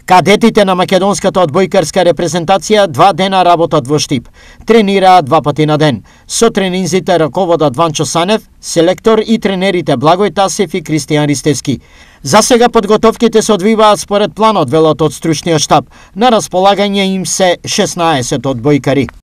Кадетите на македонската одбојкарска репрезентација 2 дена работат во Штип. Тренираат 2 пати на ден. Со тренинзите раководат Ванчо Санев, селектор и тренерите Благој Тасев и Кристијан Ристевски. За сега подготовките се одвиваат според планот, велат од стручниот штаб. На располагање им се 16 одбојкари.